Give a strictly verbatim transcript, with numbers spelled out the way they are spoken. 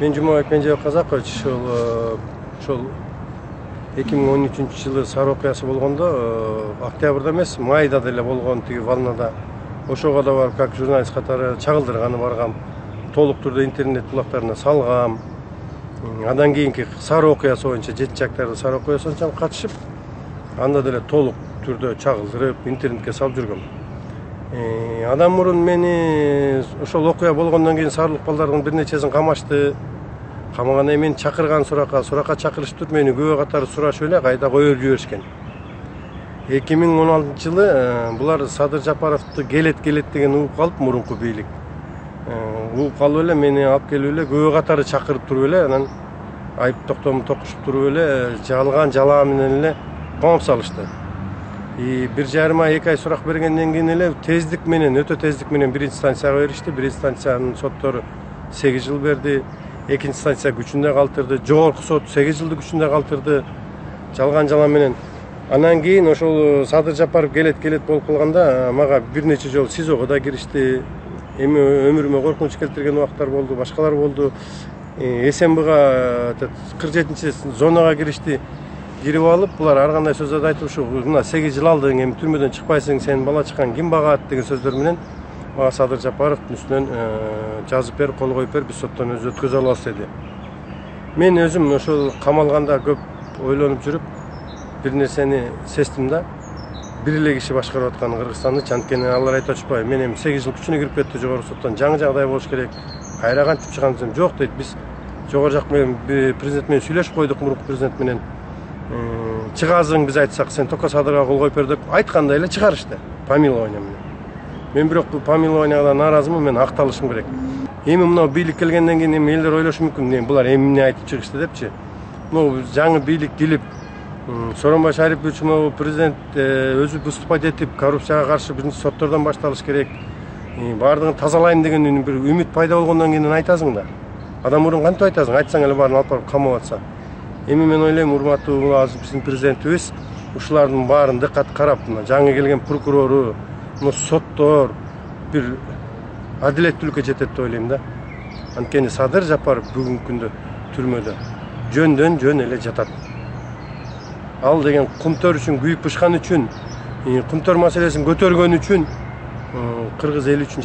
Мен Жумабек Менжебек Казакович ошол ошол эки миң он үчүнчү жылы сары окуясы болгондо, октябрда эмес, майда деле болгон тиги волнада. Ошого да барып как журналист катары чагылдырганы баргам. Толук түрдө интернет булактарына салгам. Андан кийинки сары окуясы боюнча, жети жактарды сары окуясы боюнча катышып, анда деле толук түрдө чагылдырып, интернетке салып жүргөм. Адам мурун мени ошол окуя болгондон кийин сарылык балдардын бир нечесин камашты. Камагандан кийин мени чакырган суракка, суракка чакырышып туруп, мени күбө катары сурашып эле кайда коюп жиберишкен. эки миң он алтынчы жылы булар Садыр Жапаровду келет келет деген угуп калып, мурунку бийлик. Угуп калып эле мени алып келип эле күбө катары чакырып туруп эле, анан айып токтому токушуп туруп эле жалган жалаа менен эле коомуп салышты. бир жарым ай, эки ай сурак бергенден кийин эле тездик менен, өтө тездик менен биринчи станцияга беришти. Биринчи станциянын соттору сегиз жыл берди. Экинчи станция күчүндө калтырды. Жогорку сот сегиз жылды күчүндө калтырды. Жалган жалаа менен. Анан кийин ошол Садыр Жапаров келет келет болуп калганда мага бир нече жолу СИЗОго да киришти. Эми өмүрүмө коркунуч келтирген убактар болду, башкалар болду. СМБга кырк жетинчи зонага киришти. Кирип алып, булар ар кандай сөздөрдү айтып, ушу мына сегиз жыл алдың, эми түрмөдөн чыкпайсың, сенин бала чыккан ким багат деген сөздөр менен мага Садыр Жапаровдун үстүнөн жазып бер, кол коюп бер, биз соттон өзү өткөзө алабыз деди. Мен өзүм ошол камалганда көп ойлонуп жүрүп, бир нерсени сездим да. Бир эле киши башкарып аткан Кыргызстанды, анткени алар айтып атышпайбы, мен эми сегиз жыл күчүнө кирип кетти жогорку соттон, жаңы жагдай болуш керек. Кайра кантип чыгам десем, жок дейт, биз жогору жак менен президент менен сүйлөшүп койдук, мурунку президент менен. Чыгазың биз айтсак, сен только Садырга кол коюп бер деп айткандай эле чыгарышты, помилование менен. Мен бирок бул помилованияга нааразымын, мен акталышым керек. Эми мына бийлик келгенден кийин эми элдер ойлошу мүмкүн, булар эми эмне айтып чыгышты депчи. Могу жаңы бийлик келип, Сооронбай Шарипович могу президент өзү выступать этип, коррупцияга каршы биринчи соттордон башталыш керек. Баардыгын тазалайм деген бир үмүт пайда болгондон кийин айтасың да. Адам мурун кантип айтасың? Айтсаң эле баарын алып барып камап атса. Эми мен ойлойм, урматтуу азыр биздин президентибиз ушулардын баарын дыккат карап, жаңы келген прокурору, соттор бир адилеттүүлүккө жетет деп ойлойм да. Анткени Садыр Жапаров бүгүнкү күндө түрмөдө жөндөн жөн эле жатат. Ал деген кумтөр үчүн күйүп бышкан үчүн, кумтөр маселесин көтөргөн үчүн кыргыз эли үчүн